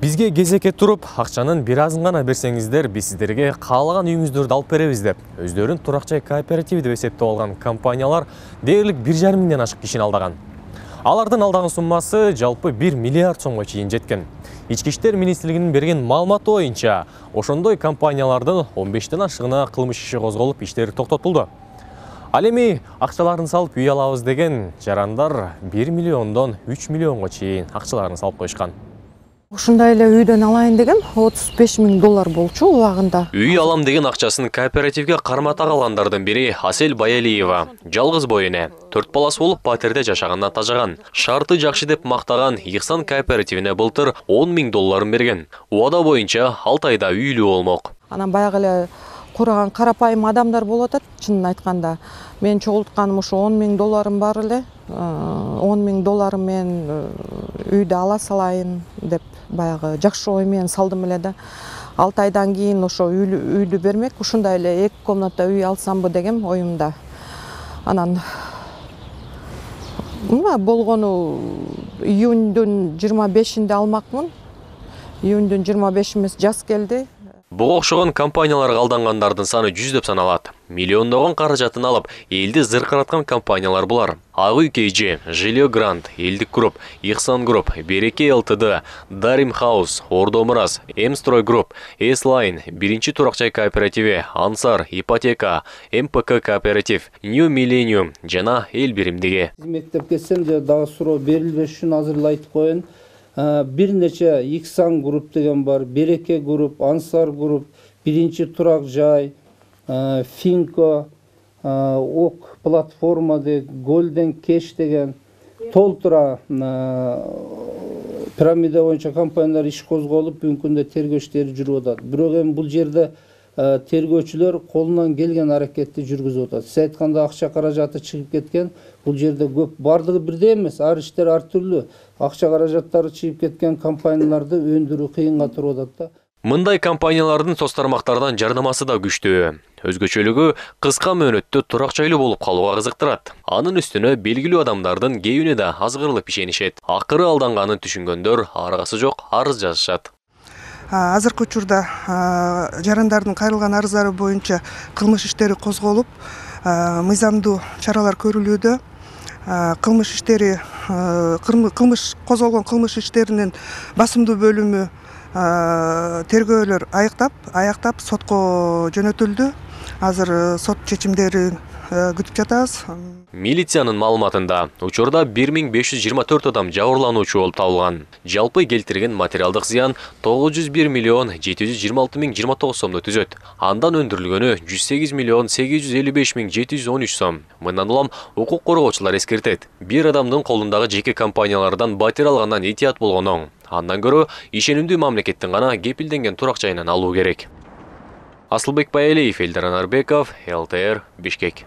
Бизге кезекке туруп, акчанын бир азын гана берсеңиздер, биз сиздерге каалаган үйүңүздөрдү алып беребиз деп, өздөрүн турак жай кооперативи деп эсептеп алган компаниялар дээрлик 1,5 миңден ашык кишини алдаган. Алардын алдаган суммасы жалпы 1 миллиард сомго чейин жеткен. Ички иштер министрлигинин берген маалыматы боюнча, ошондой компаниялардын 15тен ашыгына кылмыш иши козголуп, иштери токтотулду. Ал эми акчаларын салып үй алабыз деген жарандар 1 миллиондон 3 миллионго чейин акчаларын салып коюшкан. Ушундай эле үйдөн алайын деген 35 миң доллар болчу убагында. Үй алам деген акчасын кооперативге кармата калгандардын бири Асель Баялиева. Жалгыз бой эне, 4 баласы болуп патерде жашагандан тажаган. Шарты жакшы деп мактаган Ихсан кооперативине былтыр 10 миң долларын берген. Убада боюнча 6 айда үйлүү болмок. Анан баягы эле кураган карапайым адамдар болуп атат, чынын айтканда. Мен чогултканым ушу 10 миң долларым бар эле. 10 миң долларым мен үйдү ала салайын деп баягы жакшы ой менен салдым эле да. 6 айдан кийин ошо үйдү бермек, ушундай эле 2 комната үй алсамбы деген оюмда. Анан болгону июндун 25-inde алмакмын. Июндун 25 эмес, жаз келди. Буга окшогон компанияларга алдангандардын саны 100 деп саналат. Миллиондогон каражатын алып, элди зыркыраткан компаниялар булар. Ак үй KG, Жилио Грант, Элдик Групп, Ихсан Групп, Береке ЛТД, Дарим Хаус, Ордо Мурас, М-строй Групп, С-лайн, биринчи турак жай кооперативи, Ансар, Ипотека, МПК кооператив, New Millennium жана Эл биримдиги. Мектеп кетсем де дагы суроо берилбеш үчүн азыр эле айтып коеюн. Бир нече Ихсан Групп деген бар, Береке Групп, Ансар Групп, биринчи турак жай, Финко, ОК платформа деген, Golden Cash деген толтура пирамида боюнча компаниялар иш козголуп, бүгүнкү күндө тергөө иштери жүрүп атат. Бирок эми бул жерде тергөөчүлөр колунан келген аракетти жүргүзүп атат. Сиз айтканда акча каражаты чыгып кеткен, бул жерде көп бардыгы бирдей эмес, ар иштер ар түрлүү. Акча каражаттары чыгып кеткен компанияларды өндүрүү кыйынга туруп атат да. Мындай компаниялардын соц тармактардан жарнамасы да күчтүү. Өзгөчөлүгү кыска мөөнөттө турак жайлуу болуп калууга кызыктырат. Анын үстүнө белгилүү адамдардын кээбине да азгырылып ишенишет. Акыры алданганын түшүнгөндөр аргасы жок арыз жазышат. Азыркы учурда жарандардын кайрылган арыздары боюнча кылмыш иштери козголуп, мыйзамдуу чаралар көрүлүүдө. Козголгон кылмыш иштеринин басымдуу бөлүмү тергөөлөр аяктап сотко жөнөтүлдү. Азыр сот чечимдерин күтүп жатабыз. Милициянын маалыматында учурда 1524 адам жабырлануучу болуп табылган. Жалпы келтирген материалдык зыян 901 миллион 726 миң 29 сомду түзөт. Андан өндүрүлгөнү 108 миллион 855 миң 713 сом. Мындан улам укук коргоочулар эскертет. Бир адамдын колундагы жеке компаниялардан батир алгандан этият болгон оң. Андан көрө ишенимдүү мамлекеттин гана кепилденген турак жайынан алуу керек. Асылбек Баялиев, Элдар Анарбеков, ЛТР, Бишкек.